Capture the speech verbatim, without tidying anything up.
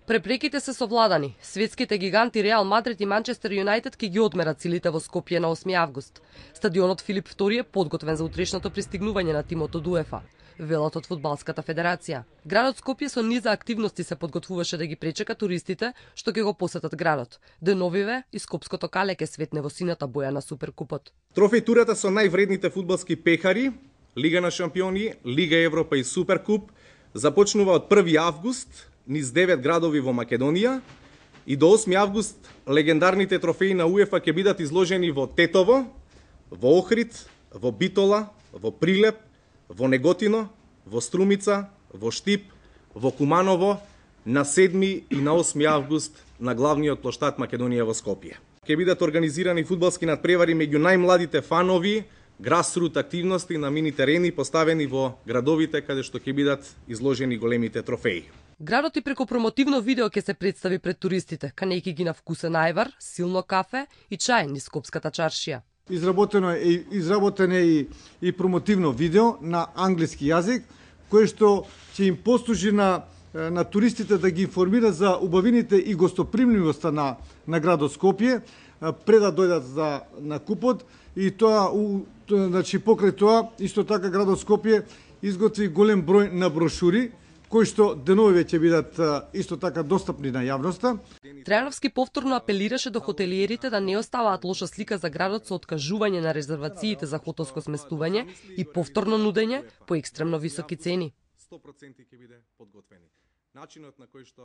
Препреките се совладани. Светските гиганти Реал Мадрид и Манчестер Юнајтед ќе ги одмерат силите во Скопје на осми август. Стадионот Филип втори е подготвен за утрешното пристигнување на тимот од УЕФА, велат од Фудбалската федерација. Градот Скопје со низа активности се подготвуваше да ги пречека туристите што ќе го посетат градот. Деновиве и скопското кале ќе светне во сината боја на Суперкупот. Трофеј-турата со највредните фудбалски пехари, Лига на шампиони, Лига Европа и Суперкуп започнува од први август низ девет градови во Македонија и до осми август легендарните трофеи на УЕФА ќе бидат изложени во Тетово, во Охрид, во Битола, во Прилеп, во Неготино, во Струмица, во Штип, во Куманово на седми и на осми август на главниот плоштад Македонија во Скопје. Ќе бидат организирани фудбалски надпревари меѓу најмладите фанови, грасрут активности на мини терени поставени во градовите каде што ќе бидат изложени големите трофеи. Градот и преку промотивно видео ќе се представи пред туристите, канејќи ги на вкусен ајвар, силно кафе и чај низ Скопската чаршија. Изработено е изработено е и, и промотивно видео на англиски јазик, кое што ќе им послужи на на туристите да ги информира за убавините и гостопримливоста на на градот Скопје пред да дојдат за на купот и тоа у, значи покрај тоа исто така градот Скопје изготви голем број на брошури кои што деновиве ќе бидат исто така достапни на јавноста. Трајановски повторно апелираше до хотелиерите да не оставаат лоша слика за градот со откажување на резервациите за хотелско сместување и повторно нудење по екстремно високи цени. сто проценти ќе биде подготвени. Начинот на кој што